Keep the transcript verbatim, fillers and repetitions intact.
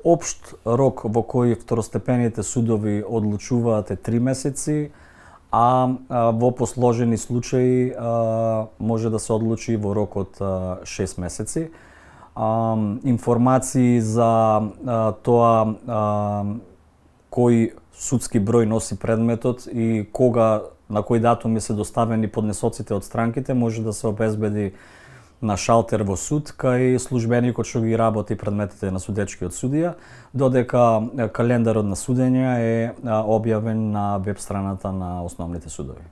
општ рок во кој второстепените судови одлучуваат е три месеци, а, а во посложени случаи а, може да се одлучи во рок од а, шест месеци. А, информации за а, тоа а, кој судски број носи предметот и кога, на кои датуми се доставени поднесоците од странките може да се обезбеди на шалтер во суд кај службеникот што ги работи предметите на судечкиот судија, додека календарот на судење е објавен на веб страната на основните судови.